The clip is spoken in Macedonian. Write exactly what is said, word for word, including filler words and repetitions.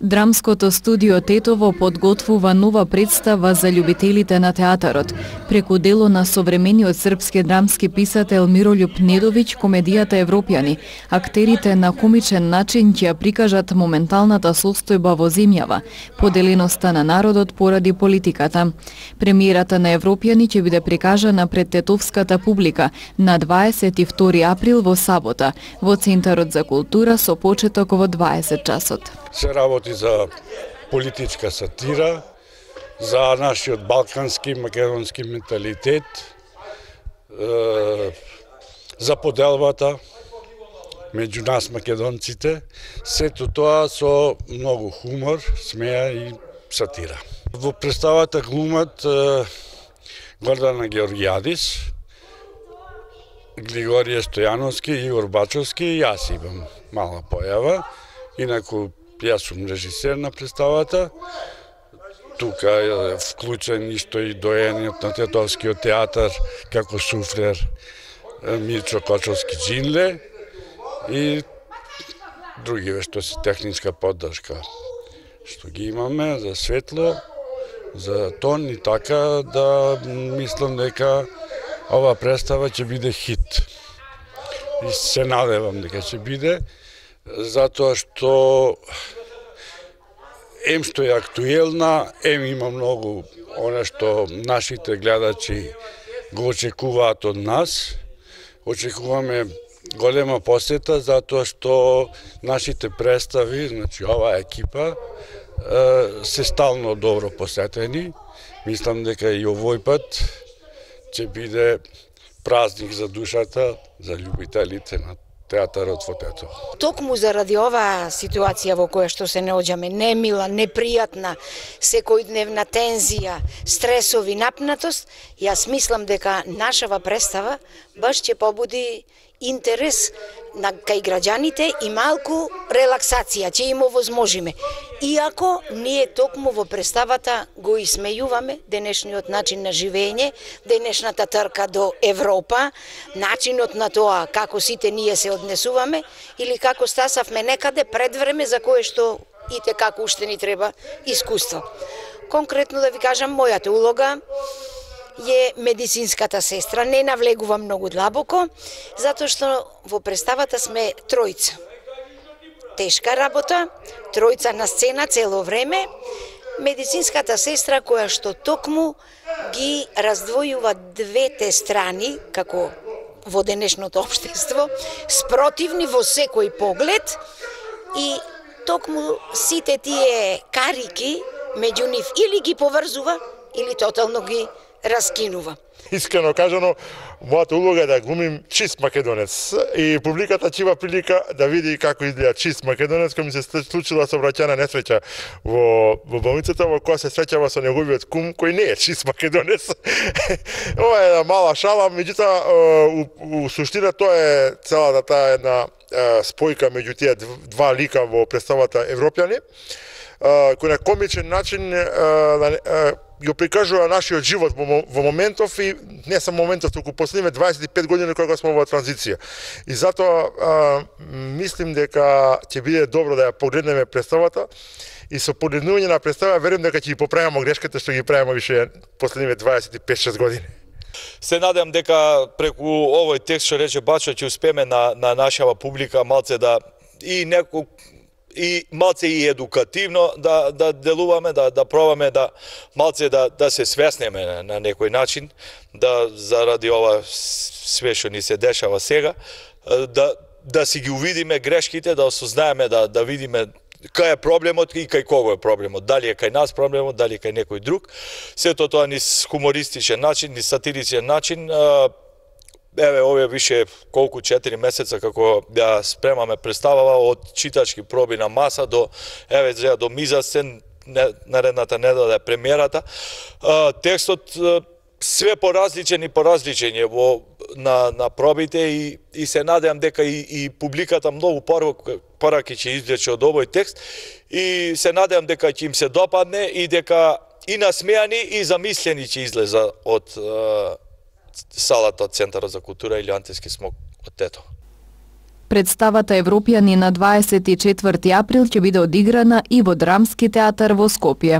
Драмското студио Тетово подготвува нова представа за љубителите на театарот. Преку дело на современиот српски драмски писател Мирољуб Недовиќ, комедијата Европјани, актерите на комичен начин ќе прикажат моменталната состојба во земјава, поделеноста на народот поради политиката. Премиерата на Европјани ќе биде прикажана пред тетовската публика на дваесет и втори април во сабота во Центарот за култура со почеток во дваесет часот. Се работи за политичка сатира, за нашиот балкански македонски менталитет, за поделбата меѓу нас македонците, сето тоа со многу хумор, смеа и сатира. Во представата глумат Гордана Георгијадис, Григорije Стојановски, Игор Бачовски и јас имам мала појава. Инаку јас сум режисер на представата. Тука е вклучен исто и доениот на Тетовскиот театар како суфлер Мирчо Кочовски-Джинле и други што се техничка поддршка што ги имаме за светло, за тон и така да мислам дека ова представа ќе биде хит. И се надевам дека ќе биде, затоа што ем што е актуелна, ем има многу оно што нашите гледачи го очекуваат од нас. Очекуваме голема посета затоа што нашите представи, значи оваа екипа, се стално добро посетени. Мислам дека и овој пат ќе биде празник за душата, за љубителите на театарот во Тетово. Токму заради оваа ситуација во која што се наоѓаме, немила, непријатна, секојдневна тензија, стресови, напнатост, јас мислам дека нашава представа баш ќе побуди интерес на кај граѓаните и малку релаксација, ќе им овозможиме. Иако ние токму во представата го исмејуваме денешниот начин на живење, денешната трка до Европа, начинот на тоа како сите ние се однесуваме или како стасавме некаде пред време за кое што и те како уште ни треба искуство. Конкретно да ви кажам, мојата улога е медицинската сестра. Не навлегувам многу длабоко, затоа што во представата сме тројца. Тешка работа, тројца на сцена цело време. Медицинската сестра која што токму ги раздвојува двете страни, како во денешното општество, спротивни во секој поглед и токму сите тие карики меѓу нив или ги поврзува, или тотално ги раскинува. Искрено кажано, мојата улога е да глумим чист македонец и публиката ќе има прилика да види како изгледа чист македонец, кој ми се случила сообраќајна несреќа во во болницата, во која се среќава со неговиот кум кој не е чист македонец. Ова е една мала шала, меѓутоа у, у суштина тоа е целата таа една спојка меѓу тие два лика во представата Европјани, кој на комичен начин го прикажува нашиот живот во моментов и не само моментов, туку последниве дваесет и пет години кога сме во транзиција. И затоа а, мислим дека ќе биде добро да ја погледнеме представата и со погледнување на представа верувам дека ќе ги поправиме грешките што ги правиме више последниве дваесет и пет шест години. Се надевам дека преку овој текст што рече Бачо ќе успееме на, на нашава публика малце да и некој и малце и едукативно да да делуваме, да да пробаме да малце да да се свеснеме на, на некој начин, да заради ова све што ни се дешава сега, да да си ги увидиме грешките, да осознаеме, да да видиме кај е проблемот и кај кого е проблемот, дали е кај нас проблемот, дали е кај некој друг. Сето тоа ни хумористичен начин, ни сатиричен начин. Еве, овие више колку четири месеца како ја спремаме представава од читачки проби на маса до еве до мизасцен, наредната недела е премиерата. Текстот све поразличен и поразличен е во на на пробите и и се надевам дека и, и публиката многу пораки ќе извлече од овој текст и се надевам дека ќе им се допадне и дека и насмеани и замислени ќе излеза од салата од Центарот за култура или Антиски смок од Тетово. Представата Европјани на дваесет и четврти април ќе биде одиграна и во Драмски театар во Скопје.